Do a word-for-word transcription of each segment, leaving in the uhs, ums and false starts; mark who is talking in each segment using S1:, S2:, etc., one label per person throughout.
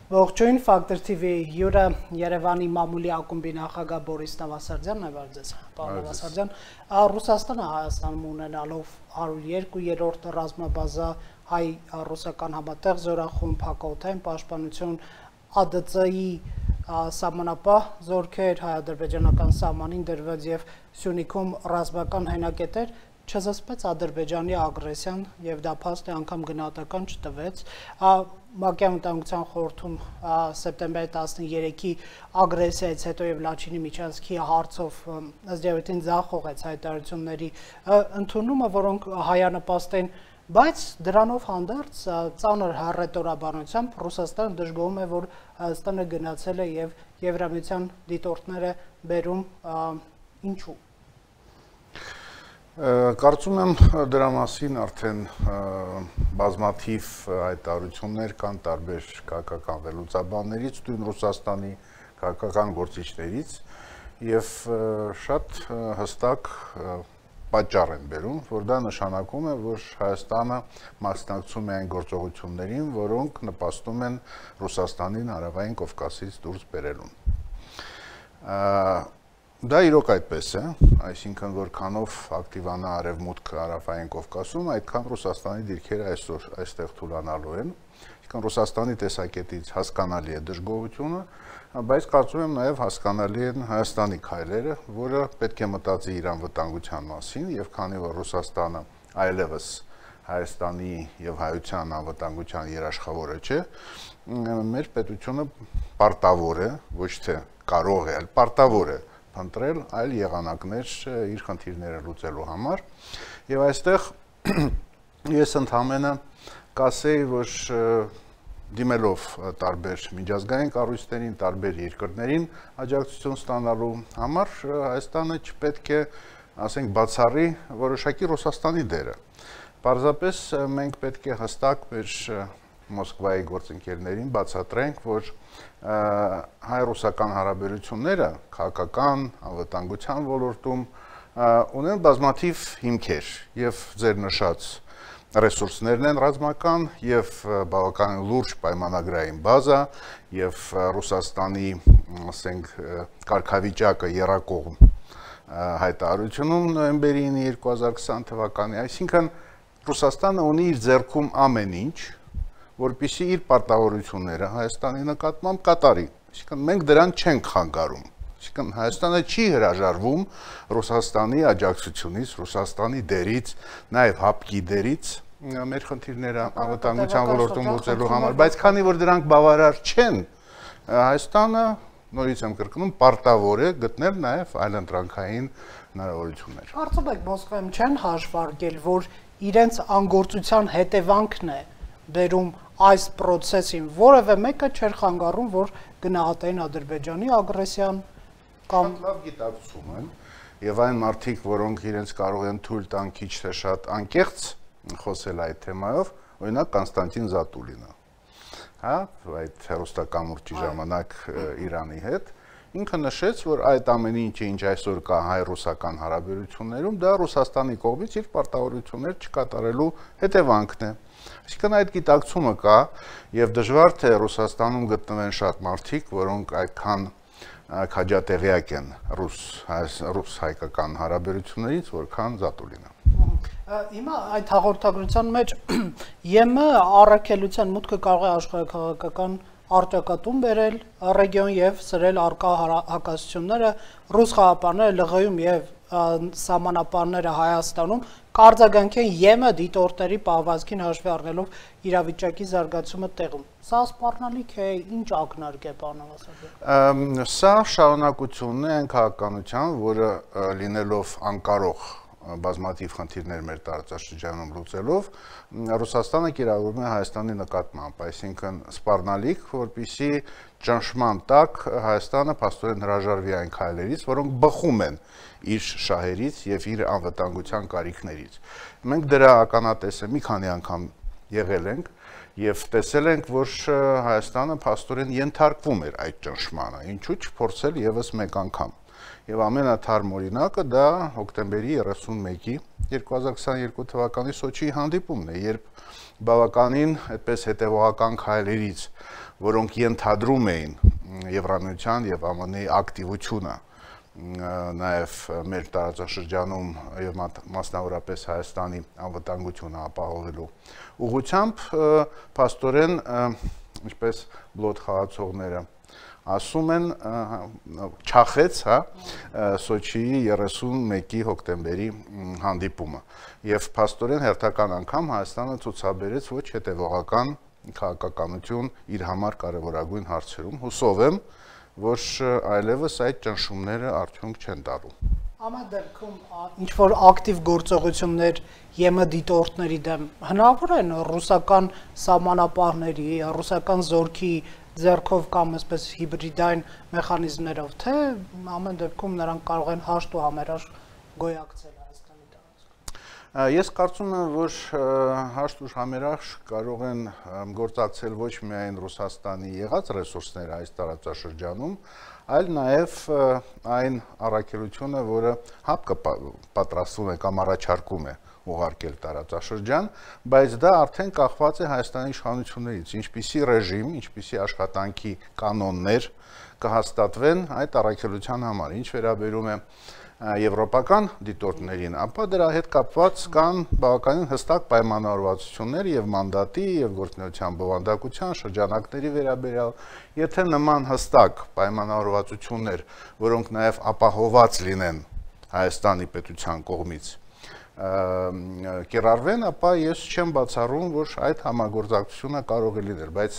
S1: Ողջույն, Ֆակտոր թիվի հյուրը Երևանի մամուլի ակումբի նախագահ Բորիս Նավասարդյանն է, բարձես, պարոն Նավասարդյան, Ռուսաստանը Հայաստանում ունենալով հարյուր երկու-րդ ռազմաբազա, հայ-ռուսական համատեղ զորախումբ, հակաօդային պաշտպանություն, Ա ԴԾ ի սահմանապահ զորքեր, հայ-ադրբեջանական սահմանին դրված եւ Սյունիքում ռազմական հենակետեր, չզսպեց Ադրբեջանի ագրեսիան եւ դա փաստ է անգամ գնահատական չտվեց ՄԱԿ-ի անվտանգության խորհրդում սեպտեմբերի տասներեքի ագրեսիայից հետո եւ Լաչինի միջանցքի հարցով ըստ երևույթին ձախողեց հայտարարությունների ընդունումը, որոնք հայանպաստ են, բայց դրանով հանդերձ ծանր հռետորաբանությամբ Ռուսաստանը դժգոհում է, որ Հայաստանը գնացել է եւ Եվրամիության դիտորդները բերում ինչու։
S2: Կարծում եմ դրա մասին արդեն բազմաթիվ հայտարարություններ կան տարբեր քաղաքական վերլուծաբաններից, նույն Ռուսաստանի քաղաքական գործիչներից եւ շատ հստակ պատճառ են բերում, որ դա նշանակում է, որ Հայաստանը մասնակցում է այն գործողություններին, որոնք նպաստում են Ռուսաստանին Հարավային Կովկասից դուրս բերելուն։ Դա իրոք այդպես է, այսինքն որքանով ակտիվանա Արևմուտքը Հարավային Կովկասում, այդքան Ռուսաստանի դիրքերը այսօր այստեղ թուլանալու են, այսինքն Ռուսաստանի տեսակետից հասկանալի է դժգոհությունը, բայց կարծում եմ նաև հասկանալի են Հայաստանի քայլերը, որը պետք է մտածի իր անվտանգության մասին, եւ քանի որ Ռուսաստանը այլևս Հայաստանի եւ հայության անվտանգության երաշխավորը չէ, մեր պետությունը պարտավոր է, ոչ թե կարող է, այլ պարտավոր է ընտրել այլ եղանակներ իր խնդիրները լուծելու համար եւ այստեղ ես ընդհանրապես կասեի, որ դիմելով տարբեր միջազգային կառույցներին, տարբեր երկրներին աջակցություն ստանալու համար Հայաստանը չպետք է, ասենք, բացառի որոշակի Ռուսաստանի դերը։ Պարզապես մենք պետք է հստակ մեր Մոսկվայի գործընկերներին բացատրենք, որ հայ-ռուսական հարաբերությունները քաղաքական, անվտանգության ոլորտում ունեն բազմաթիվ հիմքեր եւ ձեր նշած ռեսուրսներն են ռազմական եւ բավական լուրջ պայմանագրային բազա եւ Ռուսաստանի, ասենք, կարգավիճակը եռակողմ հայտարարությունում նոյեմբերի երկու հազար քսան թվականի, այսինքն Ռուսաստանը ունի իր ձեռքում ամեն ինչ, որպեսզի իր պարտավորությունները Հայաստանի նկատմամբ կատարի, այսինքն մենք դրան չենք խանգարում, այսինքն Հայաստանը չի հրաժարվում Ռուսաստանի աջակցությունից, Ռուսաստանի դերից, նաև հապկի դերից մեր խնդիրները անվտանգության ոլորտում լուծելու համար, բայց քանի որ դրանք բավարար չեն, Հայաստանը, նորից եմ կրկնում, պարտավոր է գտնել նաև այլընտրանքային հնարավորություններ։
S1: Կարծում եք Մոսկվայում չեն հաշվարկել, որ իրենց անգործության հետևանքն է բերում այս process-ին, որևէ մեկը չէր խանգարում, որ գնահատային Ադրբեջանի ագրեսիան կամ
S2: շատ լավ գիտակցում են եւ այն մարդիկ, որոնք իրենց կարող են թույլ տան քիչ թե շատ անկեղծ խոսել այդ թեմայով, օրինակ Կոնստանտին Զատուլինը, հա, այդ հերոստակամուրջի ժամանակ Իրանի հետ, ինքը նշեց, որ այդ ամեն ինչը, ինչ այսօր կա հայ-ռուսական հարաբերություններում, դա Ռուսաստանի կողմից իր պարտավորություններ չկատարելու հետևանքն է։ Այսինքն այդ գիտակցումը կա եւ դժվար թե Ռուսաստանում գտնվեն շատ մարդիկ, որոնք այդքան քաջատեղյակ են ռուս-հայկական հարաբերություններից, որքան Զատուլինը։
S1: Հիմա այդ հաղորդագրության մեջ ԵՄ առաքելության մուտքը կարող է աշխարհաքաղաքական արտակատում բերել ռեգիոն եւ սրել արկա հակասությունները, ռուս խաղապարները ԼՂ-ում եւ սահմանապարները Հայաստանում կարձագանքեն ԵՄ դիտորդների պահվածքին հաշվի առնելով իրավիճակի զարգացումը տեղում։ Սա սպառնալիք է, ինչ ակնարկ է, պարոն Նավասարդյան։
S2: Սա շարունակությունն է այն քաղաքականության, որը լինելով անկարող բազմաթիվ խնդիրներ մեր տարածաշրջանում լուծելով, Ռուսաստանը կիրառում է Հայաստանի նկատմամբ, այսինքն սպառնալիք, որպեսզի ճնշման տակ Հայաստանը փաստորեն հրաժարվի այն քայլերից, որոնք բխում են իր շահերից եւ իր անվտանգության կարիքներից։ Մենք դրա ականատեսը մի քանի անգամ եղել ենք Եվ տեսել ենք, որ Հայաստանը փաստորեն ենթարկվում էր այդ ճնշմանը, ինչու՞ չփորձել եւս մեկ անգամ։ Եվ ամենաթարմ օրինակը դա հոկտեմբերի երեսունմեկի երկու հազար քսաներկու թվականի Սոչիի հանդիպումն է, երբ բավականին այդպես հետևողական քայլերից, որոնք ենթադրում էին Եվրամիության եւ ԱՄՆ-ի ակտիվությունը, նաեւ մեր տարածաշրջանում եւ մասնավորապես Հայաստանի անվտանգությունը ապահովելու ուղղությամբ, փաստորեն, ինչպես բլոթ խաղացողները ասում են, չախեց, հա, Սոչիի երեսունմեկի հոկտեմբերի հանդիպումը։ Եվ փաստորեն հերթական անգամ Հայաստանը ցուցաբերեց ոչ հետևողական քաղաքականություն իր համար կարևորագույն հարցերում։ Հուսով եմ, որ այլևս այդ ճնշումները արդյունք չեն տալու։
S1: Ամեն դեպքում ինչ որ ակտիվ գործողություններ ԵՄ դիտորդների դեմ հնարավոր են ռուսական սահմանապահների, ռուսական զորքի ձեռքով կամ այսպես հիբրիդային մեխանիզմներով, թե ամեն դեպքում նրանք կարող են հաշտ ու համերաշխ գոյակցել Հայաստանի տարածքում։
S2: Ես կարծում եմ, որ հաշտ ու համերաշխ կարող են գործակցել ոչ միայն Ռուսաստանի եղած ռեսուրսները այս տարածաշրջանում, այլ նաև այն առաքելությունը, որը ՀԱՊԿ-ը պատրաստվում է կամ առաջարկում է ուղարկել տարածաշրջան, բայց դա արդեն կախված է Հայաստանի իշխանություններից, ինչպիսի ռեժիմ, ինչպիսի աշխատանքի կանոններ կհաստատվեն այդ առաքելության համար, ինչ վերաբերում է եվրոպական դիտորդներին, ապա դրա հետ կապված կան բավականին հստակ պայմանավորվածություններ եւ մանդատի եւ գործունեության բովանդակության շրջանակների վերաբերյալ, եթե նման հստակ պայմանավորվածություններ, որոնք նաեւ ապահովված լինեն Հայաստանի պետության կողմից կիրառվեն, ապա ես չեմ բացառում, որ այդ համագործակցությունը կարող է լինել, բայց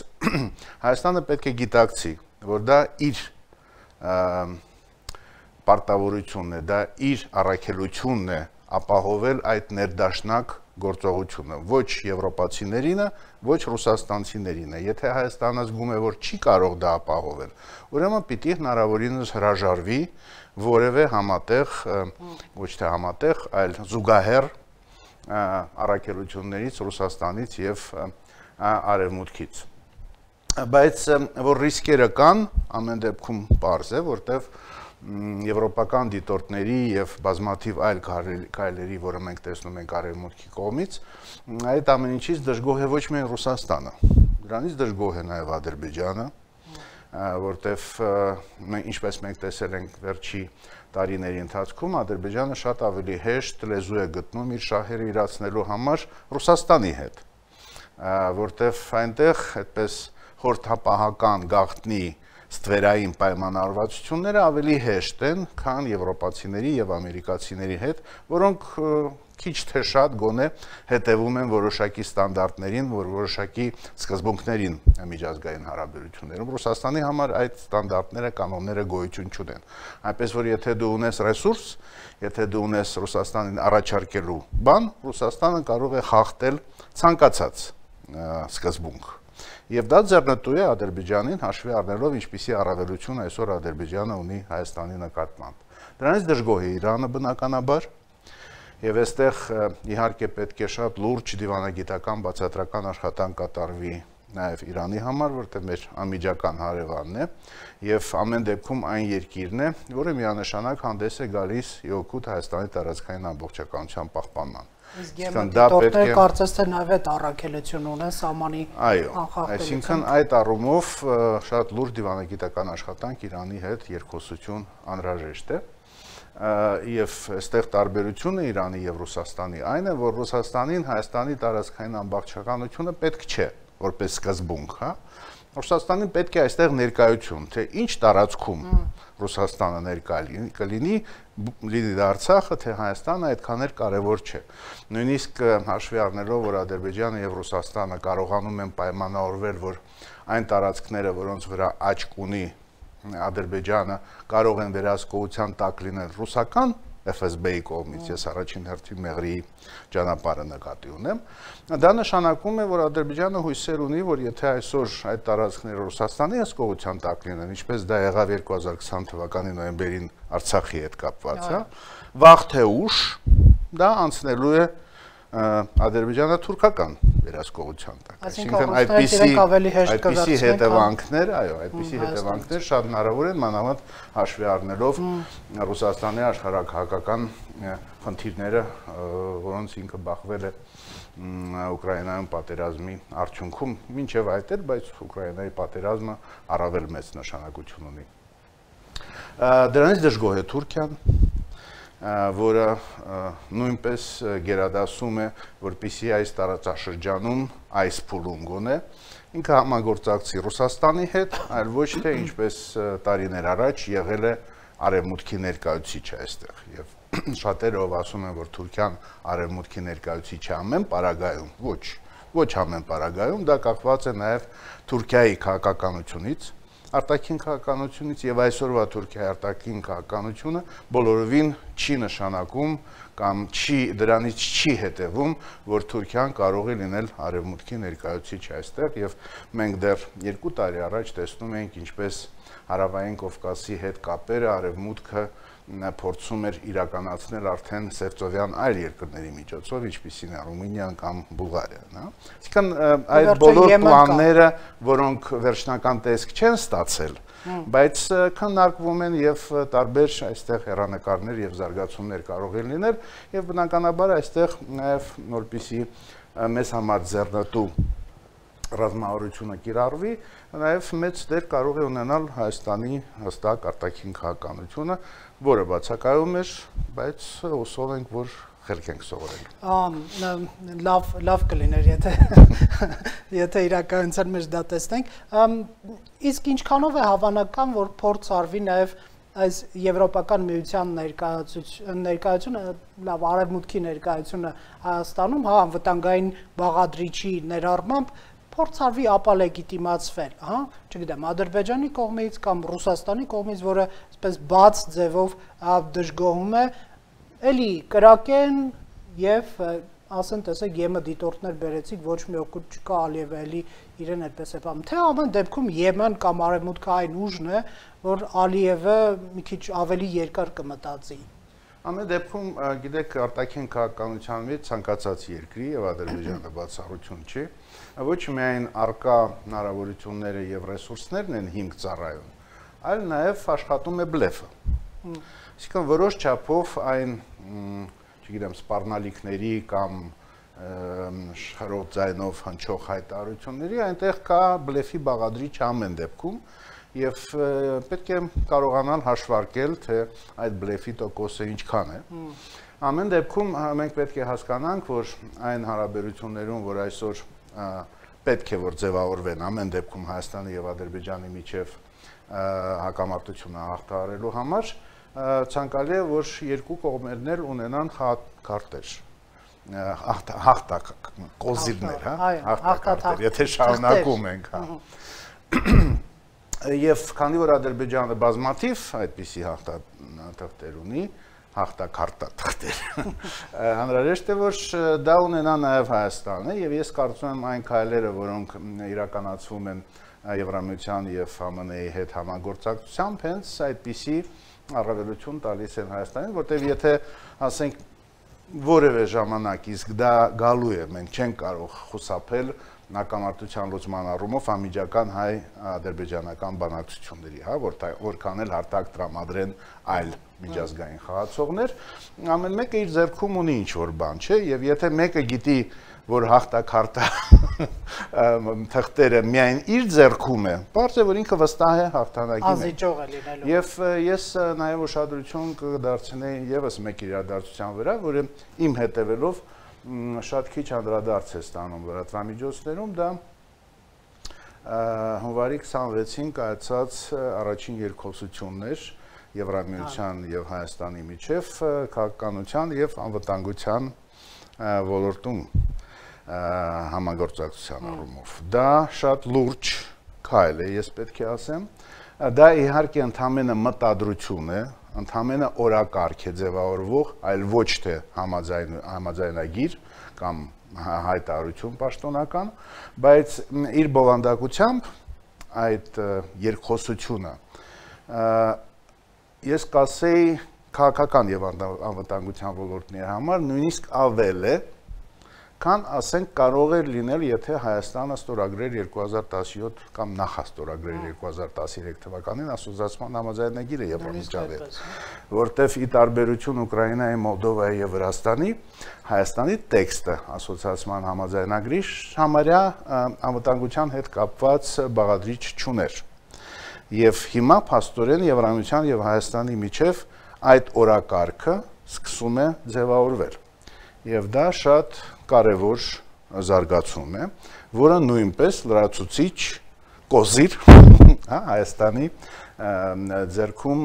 S2: Հայաստանը պետք է գիտակցի, որ դա իր պարտավորությունն է, դա իր առաքելությունն է ապահովել այդ ներդաշնակ գործողությունը, ոչ եվրոպացիներինը, ոչ ռուսաստանցիներինը։ Եթե Հայաստանը զգում է, որ չի կարող դա ապահովել, ուրեմն պիտի հնարավորինս հրաժարվի որևէ համատեղ, ոչ թե համատեղ, այլ զուգահեռ առաքելություններից Ռուսաստանից եւ Արևմուտքից։ Բայց որ ռիսկերը կան, ամեն դեպքում պարզ է, որտեվ եվրոպական դիտորդների եւ բազմաթիվ այլ քայլերի, որը մենք տեսնում ենք Արևմուտքի կողմից, այդ ամեն ինչից դժգոհ է ոչ միայն Ռուսաստանը, դրանից դժգոհ է նաեւ Ադրբեջանը, որտեվ ինչպես մենք տեսել ենք վերջի տարիների ընթացքում, Ադրբեջանը շատ ավելի հեշտ լեզու է գտնում իր շահերը իրացնելու համար Ռուսաստանի հետ, որտեվ այնտեղ այդպես խորհրդապահական գաղտնի ստվերային պայմանավորվածությունները ավելի հեշտ են, քան եվրոպացիների եւ ամերիկացիների հետ, որոնք քիչ թե շատ գոնե հետևում են որոշակի ստանդարտներին, որ որոշակի սկզբունքներին միջազգային հարաբերություններում։ Ռուսաստանի համար այդ ստանդարտները, կանոնները գոյություն չունեն։ Այնպես որ եթե դու ունես ռեսուրս, եթե դու ունես Ռուսաստանին առաջարկելու բան, Ռուսաստանը կարող է խախտել ցանկացած սկզբունք։ Եվ դա ձեռնտու է Ադրբեջանին, հաշվի առնելով ինչպիսի առավելություն այսօր Ադրբեջանը ունի Հայաստանի նկատմամբ։ Դրանից դժգոհ է Իրանը բնականաբար, եւ այստեղ իհարկե պետք է շատ լուրջ դիվանագիտական բացատրական աշխատանք կատարվի նաեւ Իրանի համար, որտեղ մեր անմիջական հարևանն է, եւ ամեն դեպքում այն երկիրն է, որը միանշանակ հանդես է գալիս իօգուտ Հայաստանի տարածքային ամբողջականության պահպանման։
S1: Իսկ դիտորդները կարծես թե նաև այդ առաքելություն ունեն սահմանի
S2: անխախտելիության։ Այսինքն այդ առումով շատ լուրջ դիվանագիտական աշխատանք Իրանի հետ երկխոսություն անհրաժեշտ է։ Եվ այստեղ տարբերությունը Իրանի եւ Ռուսաստանի այն է, որ Ռուսաստանին Հայաստանի տարածքային ամբողջականությունը պետք չէ, որպես սկզբունք, հա։ Ռուսաստանին պետք է այստեղ ներկայություն, թե ինչ տարածքում Ռուսաստանը ներկա կլինի, լինի դա Արցախը, թե Հայաստանը, այդքան էլ կարևոր չէ։ Նույնիսկ հաշվի առնելով, որ Ադրբեջանը եւ Ռուսաստանը կարողանում են պայմանավորվել, որ այն տարածքները, որոնց վրա աչք ունի Ադրբեջանը, կարող են վերահսկողության տակ լինել ռուսական F S B-ի կողմից, ես առաջին հերթին Մեղրիի ճանապարհը նկատի ունեմ, դա նշանակում է, որ Ադրբեջանը հույսեր ունի, որ եթե այսօր այդ տարածքները Ռուսաստանի հսկողության տակ լինեն, ինչպես դա եղավ երկու հազար քսան թվականի նոյեմբերին Արցախի հետ կապված, հա, վաղ թե ուշ դա անցնելու է ադրբեջանա-թուրքական վերահսկողության տակ։
S1: Այսինքն այդպիսի
S2: այդպիսի հետևանքներ, այո, այդպիսի հետևանքներ շատ հնարավոր են, մանավանդ հաշվի առնելով Ռուսաստանի աշխարհակահաղական խնդիրները, որոնց ինքը բախվել է Ուկրաինայում պատերազմի արդյունքում, մինչև այդ էր, բայց Ուկրաինայի պատերազմը առավել մեծ նշանակություն ունի։ Դրանից դժգոհ է Թուրքիան, որը նույնպես գերադասում է, որպեսզի այս տարածաշրջանում այս փուլում գոնե ինքը համագործակցի Ռուսաստանի հետ, այլ ոչ թե ինչպես տարիներ առաջ եղել է արևմուտքի ներկայացուցիչը այստեղ եւ շատերը ով ասում են, որ Թուրքիան արևմուտքի ներկայացուցիչ է ամեն պարագայում, ոչ, ոչ ամեն պարագայում, դա կախված է նաև Թուրքիայի քաղաքականությունից, արտաքին քաղաքականությունից եւ այսօրվա Թուրքիայի արտաքին քաղաքականությունը բոլորովին չի նշանակում կամ չի դրանից չի հետևում, որ Թուրքիան կարող է լինել արևմուտքի ներկայացուցիչ այստեղ եւ մենք դեռ երկու տարի առաջ տեսնում ենք ինչպես Հարավային Կովկասի հետ կապերը արևմուտքը փորձում էր իրականացնել արդեն սերծովյան այլ երկրների միջոցով, ինչպիսին է Ռումինիան կամ Բուլղարիան, հա։ Այսինքն այդ բոլոր պլանները, որոնք վերջնական տեսք չեն ստացել, բայց քննարկվում են եւ տարբեր այստեղ հեռանկարներ եւ զարգացումներ կարող են լինել եւ բնականաբար այստեղ նաեւ որպեսի մեզ համար ձեռնտու ռազմավարությունը կիրառվի, նաև մեծ դեր կարող է ունենալ Հայաստանի հստակ արտաքին քաղաքականությունը, որը բացակայում էր, բայց հուսով ենք, որ խելք ենք սովորել։
S1: Լավ, լավ կլիներ, եթե եթե իրականության մեջ դա տեսնենք։ Իսկ ինչքանով է հավանական, որ փորձ արվի նաև այս եվրոպական միության ներկայությունը, լավ արևմուտքի ներկայությունը Հայաստանում, հա, անվտանգային բաղադրիչի ներառմամբ փորձ արվի ապալեգիտիմացվել, հա, չգիտեմ, Ադրբեջանի կողմից կամ Ռուսաստանի կողմից, որը այսպես բաց ձևով դժգոհում է, էլի կրակեն եւ ասեն, տեսեք, ԵՄ դիտորդներ բերեցիք, ոչ մի օգուտ չկա, Ալիևը էլի իրեն այդպես է բանում։ Թե ամեն դեպքում Եմեն կամ արևմուտքը այն ուժն է, որ Ալիևը մի քիչ ավելի երկար կմտածի։
S2: Ամեն դեպքում, գիտեք, արտաքին քաղաքականության մեջ ցանկացած երկրի եւ Ադրբեջանը բացառություն չի, ոչ միայն արկա հնարավորությունները եւ ռեսուրսներն են հիմք ծառայում, այլ նաեւ աշխատում է բլեֆը։ Այսինքն որոշ չափով այն, չգիտեմ, սպառնալիքների կամ շարով ձայնով հնչող հայտարարությունների այնտեղ կա բլեֆի բաղադրիչ ամեն դեպքում եւ պետք է կարողանալ հաշվարկել, թե այդ բլեֆի տոկոսը ինչքան է։ Ամեն դեպքում մենք պետք է հասկանանք, որ այն հարաբերություններում, որ այսօր պետք է որ ձևավորվեն ամեն դեպքում Հայաստանի եւ Ադրբեջանի միջև հակամարտությունը հաղթահարելու համար, ցանկալի է, որ երկու կողմերն էլ ունենան քարտեր, հաղթակ կոզիրներ, հա, հաղթակարտեր, եթե շարունակում ենք, հա։ Եվ քանի որ Ադրբեջանը բազմաթիվ այդպիսի հաղթաթղթեր ունի, հաղթակարտաթղթեր, անհրաժեշտ է, որ դա ունենա նաև Հայաստանը, եւ ես կարծում եմ այն քայլերը, որոնք իրականացվում են Եվրամիության եւ ԱՄՆ-ի հետ համագործակցությամբ, հենց այդպիսի առավելություն տալիս են Հայաստանին, որտեղ եթե ասենք որևէ ժամանակ իսկ դա գալու է, մենք չենք կարող խուսափել հակամարտության լուծման առումով անմիջական հայ-ադրբեջանական բանակցությունների, հա, որքան էլ հարթակ տրամադրեն այլ միջազգային խաղացողներ, ամեն մեկը իր ձեռքում ունի ինչ-որ բան, չէ, եւ եթե մեկը գիտի, որ հաղթակարտա թղթերը միայն իր ձեռքում է, բարձ է, որ ինքը վստահ է հաղթանակի մեջ։
S1: Անզիջող է լինելու։
S2: Եվ ես նաեւ ուշադրություն կդարձնեի եւս մեկ իրադարձության վրա, որը իմ հետևելով շատ քիչ անդրադարձ է ստանում լրատվամիջոցներում, դա հունվարի քսանվեցին կայացած առաջին երկխոսություններ Եվրամիության եւ Հայաստանի միջև քաղաքականության եւ անվտանգության ոլորտում համագործակցության առումով։ Դա շատ լուրջ քայլ է, ես պետք է ասեմ։ Դա իհարկե ընդհանրապես մտադրություն է, ընդհանրապես օրակարգ է ձևավորվող, այլ ոչ թե համաձայնագիր կամ հայտարարություն պաշտոնական, բայց իր բովանդակությամբ այդ երկխոսությունը ես կասեի քաղաքական եւ անվտանգության ոլորտների համար նույնիսկ ավել է, քան ասենք կարող էր լինել, եթե Հայաստանը ստորագրեր երկու հազար տասնյոթ կամ նախաստորագրեր երկու հազար տասնյոթ թվականին ասոցիացիան համաձայնագիրը Եվրամիջավայր, որտեղ ի տարբերություն Ուկրաինայի, Մոլդովայի եւ Վրաստանի, Հայաստանի տեքստը ասոցիացիան համաձայնագրի համարյա անվտանգության հետ կապված բաղադրիչ չուներ։ Եվ հիմա փաստորեն Եվրամիջան եւ Հայաստանի միջև այդ օրակարգը սկսում է ձևավորվել։ Եվ դա շատ կարևոր զարգացում է, որը նույնպես լրացուցիչ կոզիր Հայաստանի ձեռքում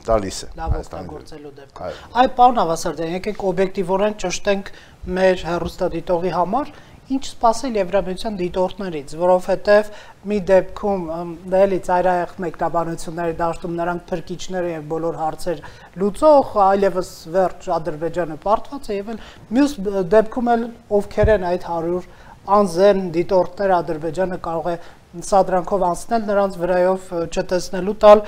S2: տալիս է։
S1: Լավ օգտագործելու դեպքում։ Այ պարոն Ավասարդյան, եկեք օբյեկտիվորեն ճշտենք մեր հեռուստադիտողի համար, ինչ սպասել Եվրամիության դիտորդներից, որովհետև մի դեպքում դելի ծայրահեղ մեկնաբանությունների դաշտում նրանք փրկիչները եւ բոլոր հարցեր լուծող, այլևս վերջ Ադրբեջանը պարտված է եւ մյուս դեպքում էլ ովքեր են այդ հարյուր անզեն դիտորդներ Ադրբեջանը կարող է սադրանքով անցնել նրանց վրայով չտեսնելու տալ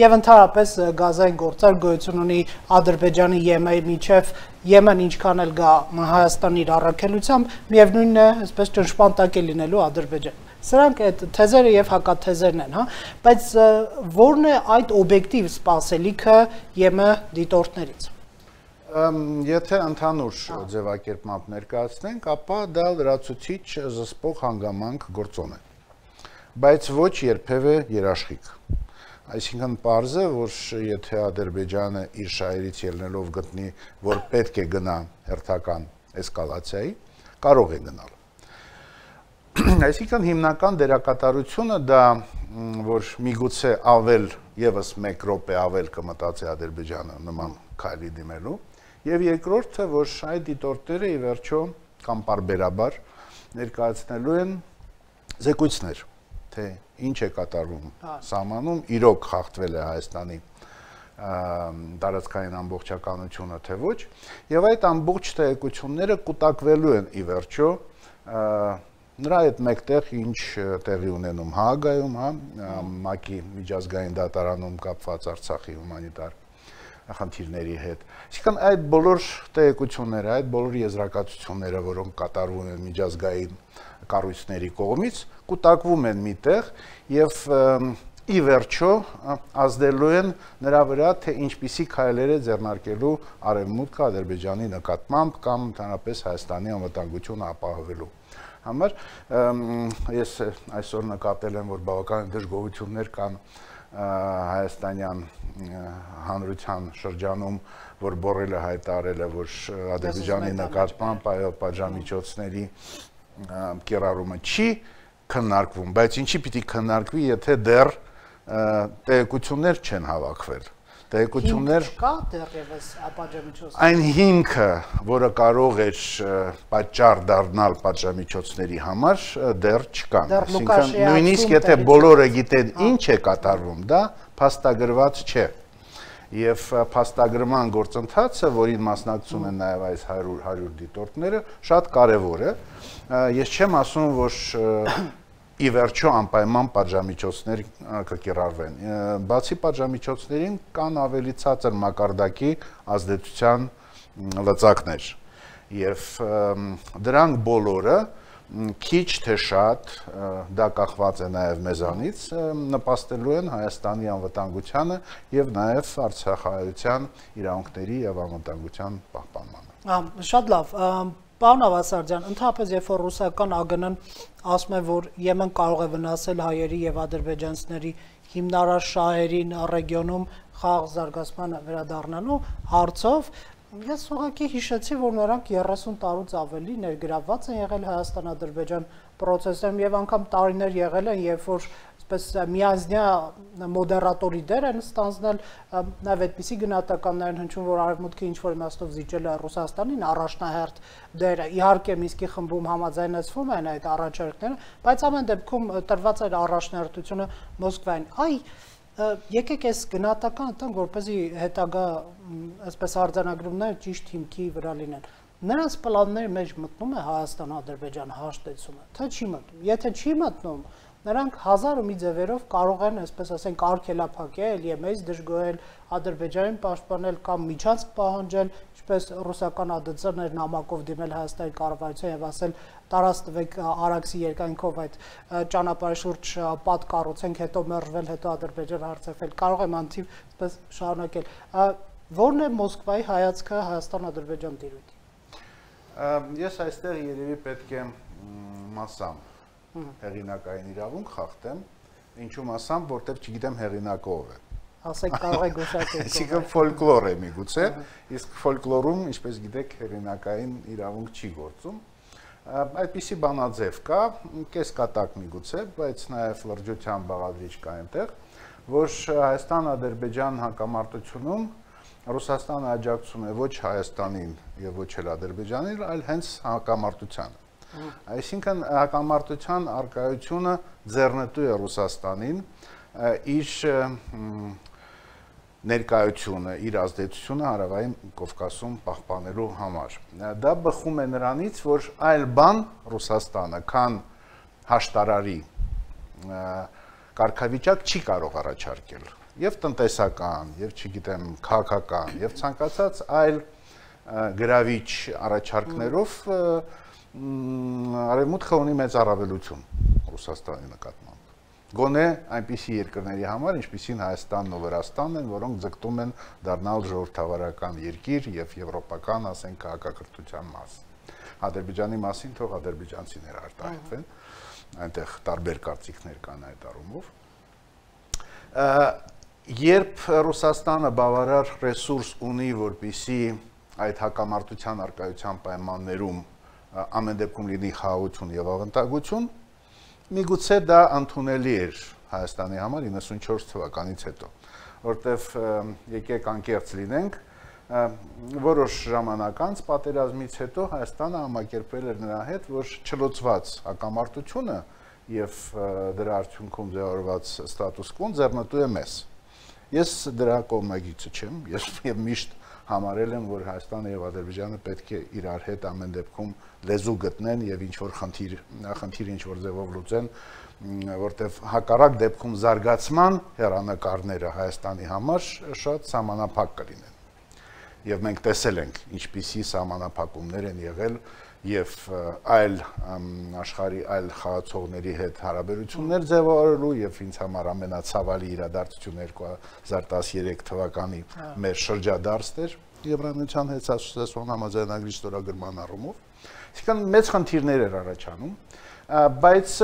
S1: եւ ընդհանրապես գազային գործար գոյություն ունի Ադրբեջանի Եմենի միջև Եմեն ինչքան էլ գա Հայաստանի իր առաքելությամբ միևնույնն է այսպես ճնշպանտակ է լինելու Ադրբեջան սրանք այդ թեզերը եւ հակաթեզերն են հա բայց որն է այդ օբյեկտիվ սպասելիքը ԵՄ դիտորդներից
S2: Եթե ընդհանուր ձևակերպմամբ ներկայացնենք, ապա դա լրացուցիչ զսպող հանգամանք գործոն է, բայց ոչ երբևէ երաշխիք։ Այսինքն պարզ է, որ եթե Ադրբեջանը իր շահերից ելնելով գտնի, որ պետք է գնա հերթական էսկալացիայի, կարող է գնալ։ Այսինքն հիմնական դերակատարությունը դա, որ միգուցե ավել եւս մեկ րոպե ավել կմտածի Ադրբեջանը նման քայլի դիմելու, Եվ երկրորդը, որ այդ դիտորդները ի վերջո կամ պարբերաբար ներկայացնելու են զեկույցներ, թե ինչ է կատարվում սահմանում, իրոք խախտվել է Հայաստանի տարածքային ամբողջականությունը, թե ոչ, եւ այդ ամբողջ տեղեկությունները կուտակվելու են ի վերջո նրա հետ մեկտեղ ինչ տեղի ունենում Հաագայում, հա, ՄԱԿ-ի միջազգային դատարանում կապված Արցախի հումանիտար խնդիրների հետ։ Այսինքն այդ բոլոր տեղեկությունները, այդ բոլոր եզրակացությունները, որոնք կատարվում են միջազգային կառույցների կողմից, կուտակվում են միտեղ եւ ի վերջո ազդելու են նրա վրա, թե ինչպիսի քայլեր է ձեռնարկելու Արևմուտքը Ադրբեջանի նկատմամբ կամ ընդհանրապես Հայաստանի անվտանգությունը ապահովելու համար ես այսօր նկատել եմ, որ բավական դժգոհություններ կան հայաստանյան հանրության շրջանում, որ Բորելը հայտարարել է, որ Ադրբեջանի նկատմամբ պատժամիջոցների կիրառումը չի քննարկվում, բայց ինչի պիտի քննարկվի, եթե դեռ տեղեկություններ չեն հավաքվել։ Տեղեկություններ
S1: կա դեռևս պատժամիջոցներ։
S2: Այն հիմքը, որը կարող էր պատճառ դառնալ պատժամիջոցների համար, դեռ չկան։ Այսինքն նույնիսկ եթե բոլորը գիտեն ինչ է կատարվում, դա փաստագրված չէ։ Եվ փաստագրման գործընթացը, որին մասնակցում են նաև այս հարյուր դիտորդները, շատ կարևոր է։ Ես չեմ ասում, որ ի վերջո անպայման պատժամիջոցներ կկիրառվեն։ Բացի պատժամիջոցներին կան ավելի ցածր մակարդակի ազդեցության լծակներ։ Եվ դրանք բոլորը քիչ թե շատ դա կախված է նաև մեզանից նպաստելու են Հայաստանի անվտանգությանը եւ նաև արցախայության իրավունքների եւ անվտանգության պահպանմանը։
S1: Շատ լավ։ Պարոն Ավասարդյան, ընդհանրապես երբ որ ռուսական ԱԳՆ-ն ասում է, որ Եմեն կարող է վնասել հայերի եւ ադրբեջանցիների հիմնարար շահերին ռեգիոնում խաղաղ զարգացման վերադառնալու հարցով, ես ուղղակի հիշեցի, որ նրանք երեսուն տարուց ավելի ներգրավված են եղել Հայաստան-Ադրբեջան process-ում եւ անգամ տարիներ եղել են, երբ որ այսպես միանձնյա մոդերատորի դեր են ստանձնել, նաեւ այդպիսի գնահատականներ են հնչում, որ Արևմուտքը ինչ որ իմաստով զիջել է Ռուսաստանին առաջնահերթ դերը։ Իհարկե Մինսկի խմբում համաձայնեցվում են այդ առաջարկները, բայց ամեն դեպքում տրված այդ առաջնահերթությունը Մոսկվային։ Այ եկեք այս գնահատականը տանք, որպեսզի հետագա այսպես արձանագրումները ճիշտ հիմքի վրա լինեն։ Նրանց պլանների մեջ մտնում է Հայաստան-Ադրբեջան հաշտեցումը, թե չի մտնում։ Եթե չի մտնում, նրանք հազար ու մի ձևերով կարող են, այսպես ասենք, արգելափակել, ԵՄ-ից դժգոհել, Ադրբեջանին պաշտպանել կամ միջանցք պահանջել, ինչպես ռուսական ԱԴՑ-ն էր նամակով դիմել Հայաստանի կառավարության եւ ասել տարած տվեք Արաքսի երկայնքով այդ ճանապարհի շուրջ պատ կառուցենք, հետո մերժվել, հետո Ադրբեջան հարցրել։ Կարող եմ անթիվ այսպես շարունակել։ Որն է Մոսկվայի հայացքը Հայաստան-Ադրբեջան տիրույթի։
S2: Ես այստեղ երևի պետք է մասամբ հեղինակային իրավունք խախտեմ, ինչու մասամբ, որտեղ չգիտեմ հեղինակը ով է։
S1: Ասեք կարող եք գուշակել։
S2: Այսինքն ֆոլկլոր է միգուցե, իսկ ֆոլկլորում, ինչպես գիտեք, հեղինակային իրավունք չի գործում։ Այդպիսի բանաձև կա, կես կատակ միգուցե, բայց նաև լրջության բաղադրիչ կա այնտեղ, որ Հայաստան-Ադրբեջան հակամարտությունում Ռուսաստանը աջակցում է ոչ Հայաստանին եւ ոչ էլ Ադրբեջանին, այլ հենց հակամարտությանը։ Այսինքն հակամարտության արկայությունը ձեռնտու է Ռուսաստանին իր ներկայությունը, իր ազդեցությունը Հարավային Կովկասում պահպանելու համար։ Դա բխում է նրանից, որ այլ բան Ռուսաստանը, քան հաշտարարի կարգավիճակ չի կարող առաջարկել։ Եվ տնտեսական, եւ չգիտեմ, քաղաքական, եւ ցանկացած այլ գրավիչ առաջարկներով Արևմուտքը ունի մեծ առավելություն Ռուսաստանի նկատմամբ։ Գոնե այնպիսի երկրների համար, ինչպիսին Հայաստանն ու Վրաստանն են, որոնք ձգտում են դառնալ ժողովրդավարական երկիր եւ եվրոպական, ասենք, քաղաքակրթության մաս։ Ադրբեջանի մասին թող ադրբեջանցիները արտահայտվեն, այնտեղ տարբեր կարծիքներ կան այդ առումով։ Երբ Ռուսաստանը բավարար ռեսուրս ունի, որպեսզի այդ հակամարտության արկայության պայմաններում ամեն դեպքում լինի խաղաղություն եւ ավանդագություն, միգուցե դա ընդունելի էր Հայաստանի համար իննսունչորս թվականից հետո, որտեվ եկեք անկեղծ լինենք, որոշ ժամանակ անց պատերազմից հետո Հայաստանը համակերպել էր նրա հետ, որ չլուծված հակամարտությունը եւ դրա արդյունքում ձևավորված ստատուս կվոն ձեռնտու է մեզ։ Ես դրա կողմնակիցը չեմ, ես եւ միշտ համարել եմ, որ Հայաստանը եւ Ադրբեջանը պետք է իրար հետ ամեն դեպքում լեզու գտնեն եւ ինչ որ խնդիր, խնդիր ինչ որ ձևով լուծեն, որտեվ հակառակ դեպքում զարգացման հեռանկարները Հայաստանի համար շատ սահմանափակ կլինեն։ Եվ մենք տեսել ենք, ինչպիսի սահմանափակումներ են եղել եւ այլ աշխարհի այլ խաղացողների հետ հարաբերություններ ձևավորելու եւ ինձ համար ամենացավալի իրադարձությունը երկու հազար տասներեք թվականի մեր շրջադարձն էր Եվրամիության հետ ասոցիացիոն համաձայնագրի ստորագրման առումով։ Այսինքն մեծ խնդիրներ էր առաջանում, բայց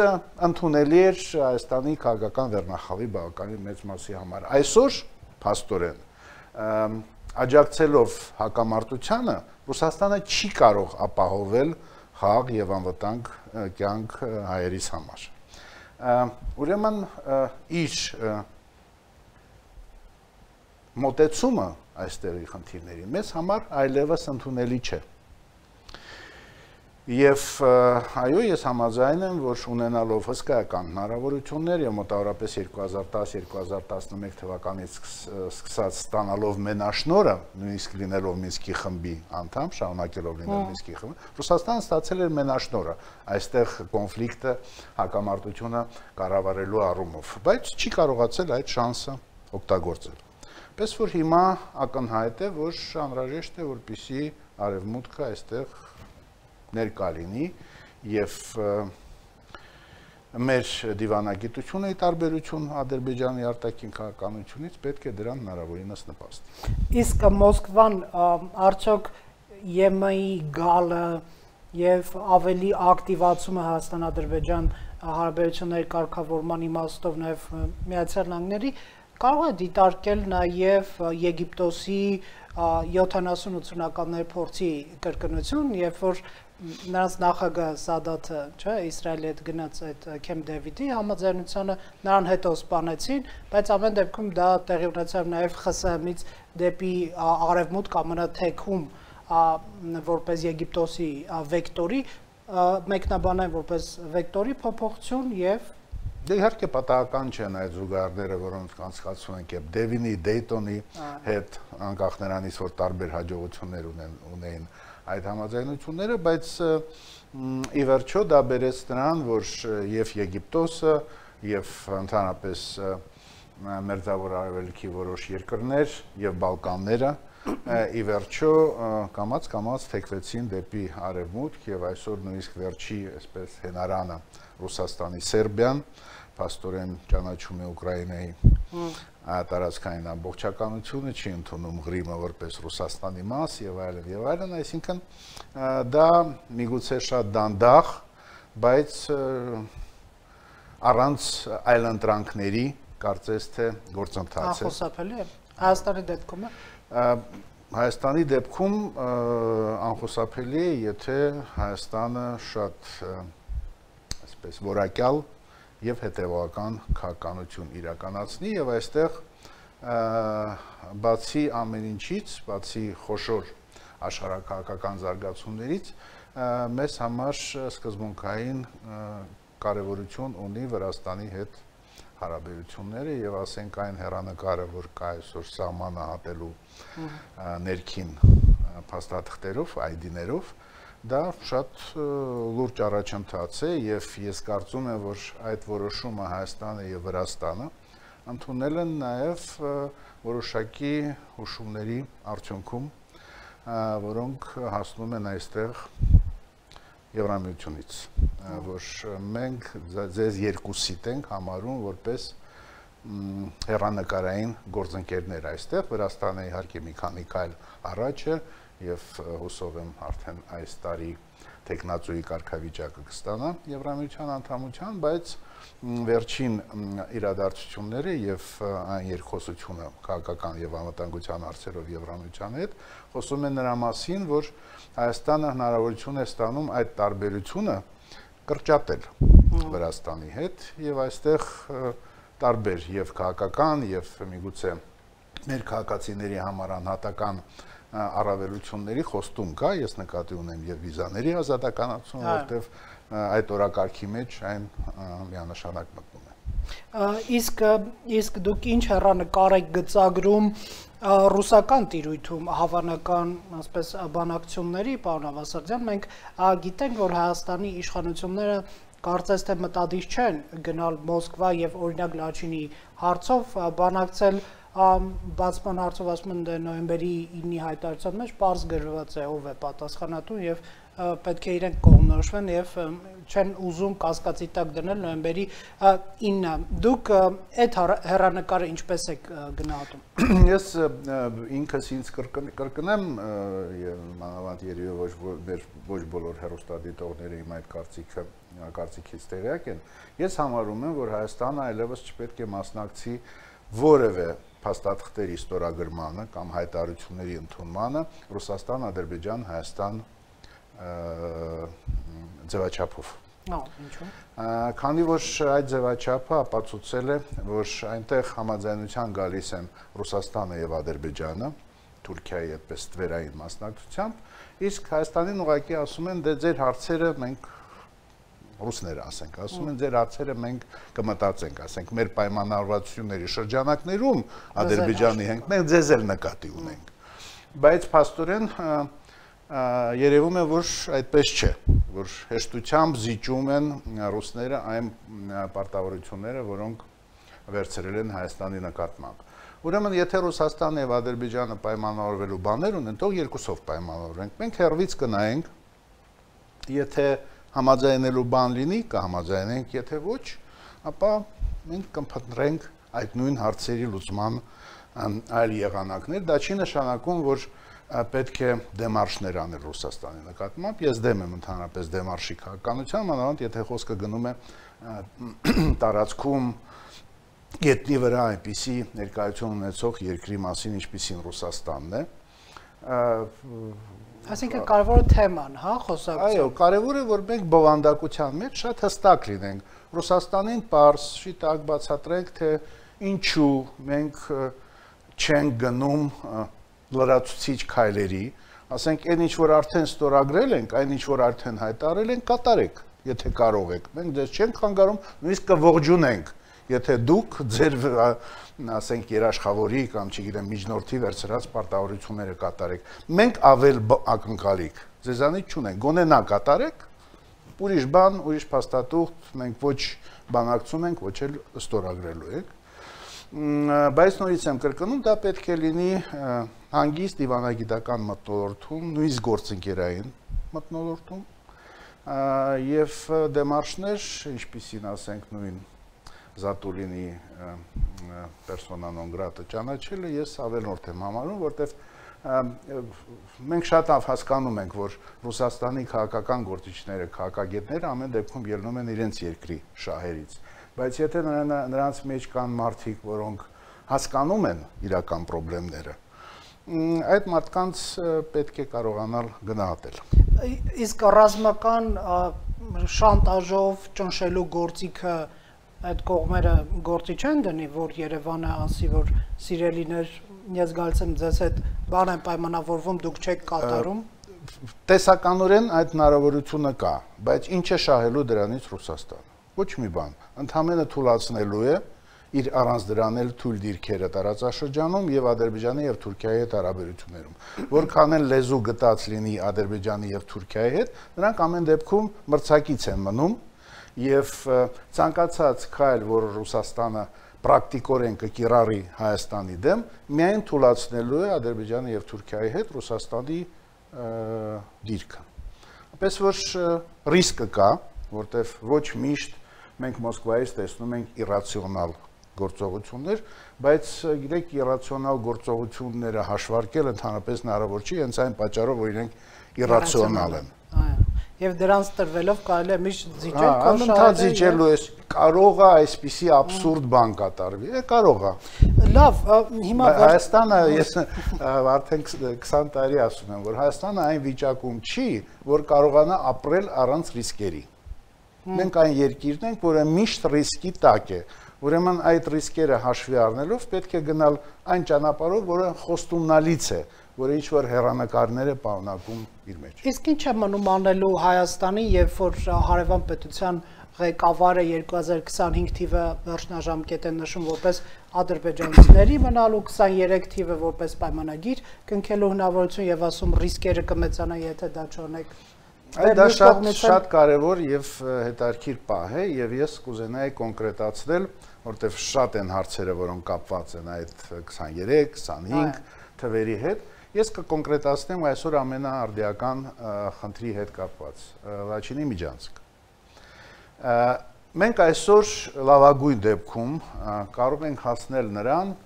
S2: ընդունելի էր Հայաստանի քաղաքական վերնախավի բավականին մեծ մասի համար։ Այսօր փաստորեն աջակցելով հակամարտությանը Ռուսաստանը չի կարող ապահովել խաղաղ եւ անվտանգ կյանք հայերիս համար։ Ուրեմն իր մոտեցումը այստեղի խնդիրների մեզ համար այլևս ընդունելի չէ։ Եվ այո, ես համաձայն եմ, որ ունենալով հսկայական հնարավորություններ եւ մոտավորապես երկու հազար տաս երկու հազար տասնմեկ թվականից սկսած ստանալով մենաշնորը, նույնիսկ լինելով Մինսկի խմբի անդամ, շարունակելով լինել Մինսկի խմբը, Ռուսաստանը ստացել էր մենաշնորը այստեղ կոնֆլիկտը, հակամարտությունը կառավարելու առումով, բայց չի կարողացել այդ շանսը օգտագործել։ Պես որ հիմա ակնհայտ է, որ անհրաժեշտ է, որպեսզի Արևմուտքը այստեղ ներկա լինի եւ մեր դիվանագիտությունը ի տարբերություն Ադրբեջանի արտաքին քաղաքականությունից պետք է դրան հնարավորինս նպաստի։
S1: Իսկ Մոսկվան արդյոք ԵՄ-ի գալը եւ ավելի ակտիվացումը Հայաստան-Ադրբեջան հարաբերությունների կարգավորման իմաստով նաեւ Միացյալ Նահանգների կարող է դիտարկել նաեւ Եգիպտոսի յոթանասուն-ութսունականների փորձի կրկնություն, երբ որ նրանց նախագահ Սադաթը, չէ, Իսրայելի հետ գնաց այդ Քեմփ Դեվիդի համաձայնությանը, նրան հետո սպանեցին, բայց ամեն դեպքում դա տեղի ունեցավ նաև ԽՍՀՄ-ից դեպի արևմուտք ամենաթեքում որպես Եգիպտոսի վեկտորի, մեկնաբանային որպես վեկտորի փոփոխություն եւ
S2: Դե իհարկե պատահական չեն այդ զուգահեռները, որոնք անցկացվում են Քեմփ Դեվիդի, Դեյտոնի հետ, անկախ նրանից, որ տարբեր հաջողություններ ունեին այդ համաձայնությունները, բայց ի վերջո դա բերեց նրան, որ եւ Եգիպտոսը եւ ընդհանրապես մերձավոր արևելքի որոշ երկրներ եւ Բալկանները ի վերջո կամած կամած թեքվեցին դեպի արևմուտք եւ այսօր նույնիսկ վերջի այսպես հենարանը Ռուսաստանի Սերբիան փաստորեն ճանաչում է Ուկրաինայի տարածքային ամբողջականությունը, չի ընդունում Ղրիմը որպես Ռուսաստանի մաս եւ այլն եւ այլն, այսինքն դա միգուցե շատ դանդաղ, բայց առանց այլընտրանքների կարծես թե գործընթաց է։
S1: Անխուսափելի է։ Հայաստանի դեպքում է։
S2: Հայաստանի դեպքում անխուսափելի է, եթե Հայաստանը շատ այսպես որակյալ եւ հետեւական քաղաքականություն իրականացնի եւ այստեղ բացի ամեն ինչից, բացի խոշոր աշխարհակաղակական զարգացումներից մեզ համար սկզբունքային կարևորություն ունի Վրաստանի հետ հարաբերությունները եւ ասենք այն հեռանկարը, որ կա այսօր սահմանը հատելու ներքին փաստաթղթերով, այ դի-ներով, դա շատ լուրջ առաջընթաց է եւ ես կարծում եմ, որ այդ որոշումը Հայաստանը եւ Վրաստանը ընդունել են նաեւ որոշակի հուշումների արդյունքում, որոնք հասնում են այստեղ Եվրամիությունից, որ մենք ձեզ երկուսիդ ենք համարում որպես հեռանկարային գործընկերներ այստեղ, Վրաստանը իհարկե մի քանի քայլ առաջ է եւ հուսով եմ արդեն այս տարի տեխնացուի կարգավիճակը կստանա Եվրամիության անդամության, բայց վերջին իրադարձությունները եւ այն երկխոսությունը քաղաքական եւ անվտանգության հարցերով Եվրամիության հետ խոսում են նրա մասին, որ Հայաստանը հնարավորություն է ստանում այդ տարբերությունը կրճատել Վրաստանի հետ եւ այստեղ տարբեր եւ քաղաքական եւ միգուցե մեր քաղաքացիների համար անհատական առավելությունների խոստում կա, ես նկատի ունեմ եւ վիզաների ազատականացում, որտեվ այդ օրակարգի մեջ այն միանշանակ մտնում է։
S1: Իսկ իսկ դուք ինչ հեռանկար եք գծագրում ռուսական տիրույթում հավանական, ասես, բանակցությունների, պարոն Ավասարդյան, մենք գիտենք, որ Հայաստանի իշխանությունները կարծես թե մտադիր չեն գնալ Մոսկվա եւ օրինակ Լաչինի հարցով բանակցել բացման հարցով, ասում են նոյեմբերի ինի հայտարարության մեջ պարզ գրված է ով է պատասխանատու եւ պետք է իրենք կողմնորոշվեն եւ չեն ուզում կասկածի տակ դնել նոյեմբերի ինը։ Դուք այդ հեռանկարը ինչպես եք գնահատում։
S2: Ես ինքս ինձ կրկնեմ եւ մանավանդ երևի ոչ ոչ բոլոր հեռուստադիտողները իմ այդ կարծիքը կարծիքից տեղյակ են։ Ես համարում եմ, որ Հայաստանը այլևս չպետք է մասնակցի որևէ փաստաթղթերի ստորագրմանը կամ հայտարարությունների ընդունմանը Ռուսաստան, Ադրբեջան, Հայաստան ձևաչափով։
S1: Ինչու՞։
S2: Քանի որ այդ ձևաչափը ապացուցել է, որ այնտեղ համաձայնության գալիս են Ռուսաստանը եւ Ադրբեջանը, Թուրքիայի այդպես ստվերային մասնակցությամբ, իսկ Հայաստանին ուղղակի ասում են, դե ձեր հարցերը մենք ռուսները ասենք, ասում են ձեր հարցերը մենք կմտածենք, ասենք մեր պայմանավորվածությունների շրջանակներում Ադրբեջանի հետ մենք ձեզ էլ նկատի ունենք։ Բայց փաստորեն երևում է, որ այդպես չէ, որ հեշտությամբ զիջում են ռուսները այն պարտավորությունները, որոնք վերցրել են Հայաստանի նկատմամբ։ Ուրեմն, եթե Ռուսաստանը եւ Ադրբեջանը պայմանավորվելու բաներ ունեն, թող երկուսով պայմանավորվենք։ Մենք հերվից կնայենք, եթե համաձայնելու բան լինի, կհամաձայնենք, եթե ոչ, ապա մենք կփնտրենք այդ նույն հարցերի լուծման այլ եղանակներ։ Դա չի նշանակում, որ պետք է դեմարշներ անել Ռուսաստանի նկատմամբ։ Ես դեմ եմ ընդհանրապես դեմարշի քաղաքականության, մանավանդ եթե խոսքը գնում է տարածքում գետնի վրա այնպիսի ներկայություն ունեցող երկրի մասին, ինչպիսին Ռուսաստանն է։
S1: Այսինքն կարևոր թեման, հա, խոսակցություն։
S2: Այո, կարևոր է, որ մենք բովանդակության մեջ շատ հստակ լինենք։ Ռուսաստանին պարզ, շիտակ բացատրենք, թե ինչու մենք չենք գնում լրացուցիչ քայլերի, ասենք, այն ինչ որ արդեն ստորագրել ենք, այն ինչ որ արդեն հայտարարել ենք, կատարեք, եթե կարող եք։ Մենք դες չենք խանգարում, նույնիսկ կողջունենք, եթե դուք ձեր ասենք երաշխավորի կամ չգիտեմ միջնորդի վերցրած պարտավորությունները կատարեք։ Մենք ավել ակնկալիք ձեզանից չունենք, գոնե նա կատարեք, ուրիշ բան, ուրիշ փաստաթուղթ մենք ոչ բանակցում ենք, ոչ էլ ստորագրելու ենք։ Բայց նորից եմ կրկնում, դա պետք է լինի հանգիստ դիվանագիտական մթնոլորտում, նույնիսկ գործընկերային մթնոլորտում եւ դեմարշներ, ինչպիսին ասենք նույն Զատուլինի պերսոնա նոն գրատը ճանաչելը ես ավելորդ եմ համարում, որտեվ մենք շատ հասկանում ենք, որ Ռուսաստանի քաղաքական գործիչները, քաղաքագետները ամեն դեպքում ելնում են իրենց երկրի շահերից, բայց եթե նրանց մեջ կան մարդիկ, որոնք հասկանում են իրական խնդիրները, այդ մարդկանց պետք է կարողանալ գնահատել։
S1: Իսկ ռազմական շանտաժով ճնշելու գործիքը այդ կողմերը գործի չեն դնի, որ Երևանը ասի, որ սիրելիներ, ես գալիս եմ ձեզ հետ բան են պայմանավորվում, դուք չեք կատարում։
S2: Տեսականորեն այդ հնարավորությունը կա, բայց ինչ է շահելու դրանից Ռուսաստանը։ Ոչ մի բան, ընդհանրապես թույլատնելու է իր առանց դրան էլ թույլ դիրքերը տարածաշրջանում եւ Ադրբեջանի եւ Թուրքիայի հետ հարաբերություններում։ Որքան էլ լեզու գտած լինի Ադրբեջանի եւ Թուրքիայի հետ, նրանք ամեն դեպքում մրցակից են մնում եւ ցանկացած քայլ, որ Ռուսաստանը պրակտիկորեն կկիրառի Հայաստանի դեմ, միայն թույլատնելու է Ադրբեջանի եւ Թուրքիայի հետ Ռուսաստանի դիրքը։ Այնպես որ ռիսկը կա, որտեվ ոչ միշտ մենք Մոսկվայից տեսնում ենք իրացիոնալ գործողություններ, բայց գիտեք, իրացիոնալ գործողությունները հաշվարկել ընդհանրապես հնարավոր չի, հենց այն պատճառով, որ իրենք իրացիոնալ են։
S1: Եվ դրանց տրվելով կարելի է միշտ զիջել,
S2: անընդհատ զիջելու է, կարող է այսպիսի աբսուրդ բան կատարվի, է կարող է։
S1: Լավ, հիմա
S2: Հայաստանը, ես արդեն քսան տարի ասում եմ, որ Հայաստանը այն վիճակում չի, որ կարողանա ապրել առանց ռիսկերի։ Մենք այն երկիրն ենք, որը միշտ ռիսկի տակ է։ Ուրեմն այդ ռիսկերը հաշվի առնելով պետք է գնալ այն ճանապարհով, որը խոստումնալից է, որը ինչ որ հեռանկարներ է պարունակում իր մեջ։
S1: Իսկ ինչ է մնում անելու Հայաստանի, երբ որ հարևան պետության ղեկավարը երկու հազար քսանհինգ թիվը վերջնաժամկետ են նշում որպես ադրբեջանցիների մնալու, քսաներեք թիվը որպես պայմանագիր կնքելու հնարավորություն եւ ասում ռիսկերը կմեծանան, եթե դա չունեք։
S2: Այդ դա շատ շատ կարևոր եւ հետաքրքիր պահ է եւ ես կուզենայի կոնկրետացնել, որտեվ շատ են հարցերը, որոնք կապված են այդ քսաներեք, քսանհինգ թվերի հետ։ Ես կկոնկրետացնեմ այսօր ամենաարդիական խնդրի հետ կապված Լաչինի Միջանցք։ Մենք այսօր լավագույն դեպքում կարող ենք հասնել նրան,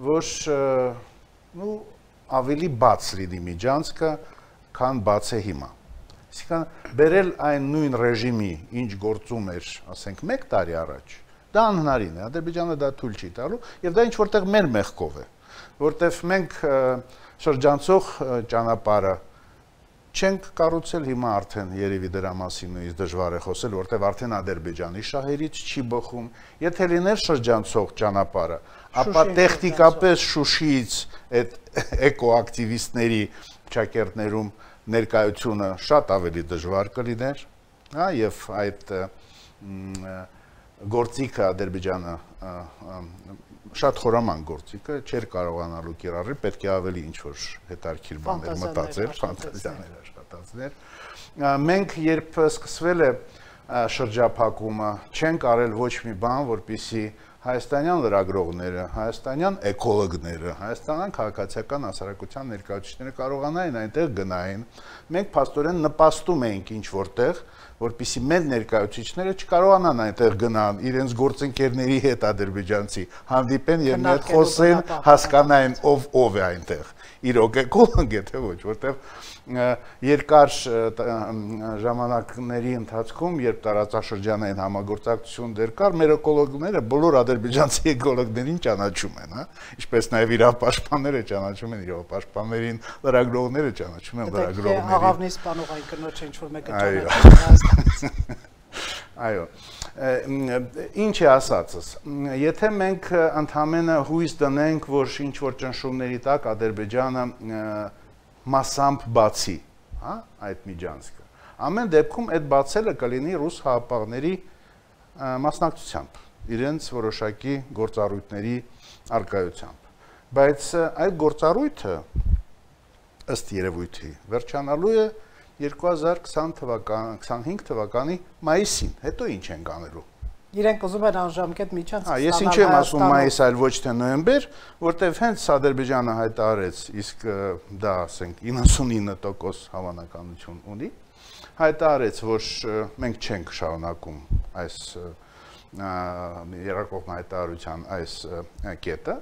S2: որ նու ավելի բաց լինի Միջանցքը, քան բաց է հիմա։ Այսինքն բերել այն նույն ռեժիմի, ինչ գործում էր, ասենք, մեկ տարի առաջ, դա անհնարին է, Ադրբեջանը դա թույլ չի տալու, եւ դա ինչ որտեղ մեր մեղքով է, որտեվ մենք շրջանցող ճանապարհը չենք կառուցել, հիմա արդեն երևի դրա մասին նույնիսկ դժվար է խոսել, որտեվ արդեն Ադրբեջանի շահերից չի բխում, եթե լիներ շրջանցող ճանապարհը, ապա տեխնիկապես Շուշիից այդ էկոակտիվիստների ճակերտներում ներկայությունը շատ ավելի դժվար կլիներ, հա, եւ այդ գործիքը Ադրբեջանը շատ խորաման գործիքը չէր կարողանալու կիրառել, պետք է ավելի ինչ-որ հետաքրքիր բաներ մտածել, ֆանտազիաներ աշխատացնել։ Մենք երբ սկսվել է շրջափակումը, չենք արել ոչ մի բան, որպեսզի հայաստանյան լրագրողները, հայաստանյան էկոլոգները, հայաստանյան քաղաքացիական հասարակության ներկայացուցիչները կարողանային այնտեղ գնային։ Մենք փաստորեն նպաստում էինք ինչ որտեղ, որպեսզի մեր ներկայացուցիչները չկարողանան այնտեղ գնան, իրենց գործընկերների հետ ադրբեջանցի հանդիպեն եւ մի հատ խոսեն, հասկանային ով ով է այնտեղ։ Իրոք էկոլոգ է թե ոչ, որտեղ երկար ժամանակների ընթացքում, երբ տարածաշրջանային համագործակցություն դեռ կար, մեր էկոլոգները բոլոր ադրբեջանցի էկոլոգներին ճանաչում են, հա, ինչպես նաև իրավապաշտպանները ճանաչում են իրավապաշտպաններին, լրագրողները ճանաչում են լրագրողներին։
S1: Աղավնի սպանողային կնոջ ինչ որ մեկը ճանաչում։
S2: Այո, ինչ է ասածս, եթե մենք ընդհանրապես հույս դնենք, որ ինչ որ ճնշումների տակ Ադրբեջանը մասամբ բացի, հա, այդ Միջանցքը, ամեն դեպքում այդ բացելը կլինի ռուս հապաղների մասնակցությամբ, իրենց որոշակի գործառույթների արկայությամբ, բայց այդ գործառույթը ըստ երևույթի վերջանալու է երկու հազար քսանհինգ թվականի մայիսին, հետո ինչ ենք անելու։
S1: Իրենք ուզում են անժամկետ միջանցք
S2: ստանալ։ Ես ինչ եմ ասում մայիս, այլ ոչ թե նոյեմբեր, որտեվ հենց Ադրբեջանը հայտարարեց, իսկ դա ասենք իննսունինը տոկոս հավանականություն ունի, հայտարարեց, որ մենք չենք շարունակում այս երկկողմ հայտարարության այս կետը,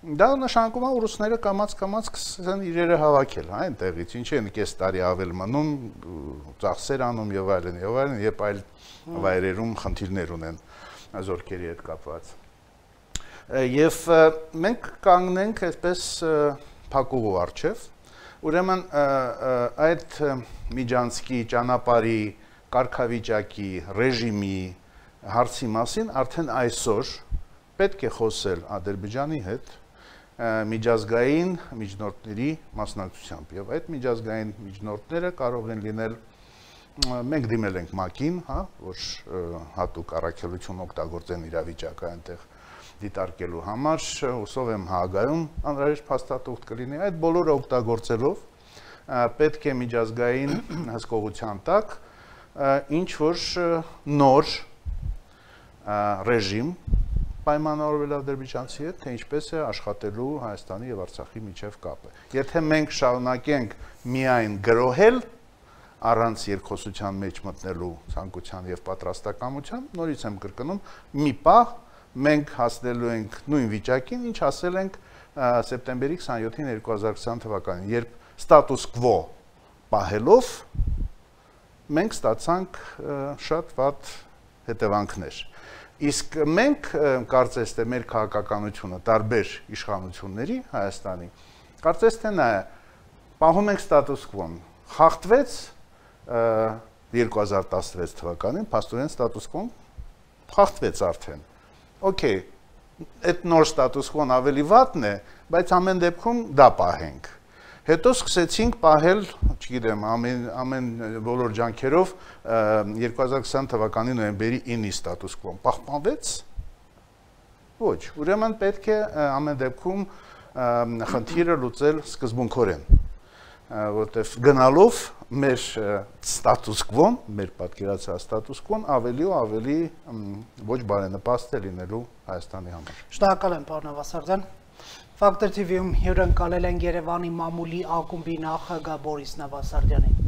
S2: դա նշանակում է, որ ռուսները կամաց-կամաց կսկսեն իրերը հավաքել, հա, այնտեղից, ինչ են կես տարի ավել մնում, ծախսեր անում եւ այլն, եւ այլն, եւ այլ վայրերում խնդիրներ ունեն զորքերի հետ կապված։ Եվ մենք կանգնենք այսպես փակուղու առջև, ուրեմն այդ միջանցքի ճանապարհի կարգավիճակի ռեժիմի հարցի մասին արդեն այսօր պետք է խոսել Ադրբեջանի հետ միջազգային միջնորդների մասնակցությամբ եւ այդ միջազգային միջնորդները կարող են լինել մենք դիմել ենք ՄԱԿ-ին, հա, որ հատուկ առաքելություն օգտագործեն իրավիճակը այնտեղ դիտարկելու համար, հուսով եմ Հաագայում անհրաժեշտ փաստաթուղթ կլինի, այդ բոլորը օգտագործելով պետք է միջազգային հսկողության տակ ինչ որ նոր ռեժիմ պայմանավորվել ադրբեջանցի հետ, թե ինչպես է աշխատելու Հայաստանի եւ Արցախի միջև կապը։ Եթե մենք շարունակենք միայն գրոհել առանց երկխոսության մեջ մտնելու ցանկության եւ պատրաստակամության, նորից եմ կրկնում, մի պահ մենք հասնելու ենք նույն վիճակին, ինչ ասել ենք սեպտեմբերի քսանյոթին երկու հազար քսան թվականին, երբ ստատուս կվո պահելով մենք ստացանք շատ վատ հետևանքներ։ Իսկ մենք կարծես թե մեր քաղաքականությունը տարբեր իշխանությունների Հայաստանի կարծես թե նա պահում ենք ստատուս կվոն, խախտվեց երկու հազար տասնվեց թվականին, փաստորեն ստատուս կվոն խախտվեց արդեն։ Okay, այդ նոր ստատուս կվոն ավելի վատն է, բայց ամեն դեպքում դա պահենք։ Հետո սկսեցինք պահել, չգիտեմ, ամեն ամեն բոլոր ջանքերով երկու հազար քսան թվականի նոյեմբերի ինը ստատուս կվոն պահպանվեց։ Ոչ, ուրեմն պետք է ամեն դեպքում խնդիրը լուծել սկզբունքորեն, որտեղ գնալով մեր ստատուս կվոն, մեր պատկերացրած ստատուս կվոն ավելի ու ավելի ոչ բարենպաստ է լինելու Հայաստանի համար։
S1: Շնորհակալ եմ, պարոն Նավասարդյան։ Ֆակտոր թի վի-ում հյուրընկալել են Երևանի մամուլի ակումբի նախագահ Բորիս Նավասարդյանին։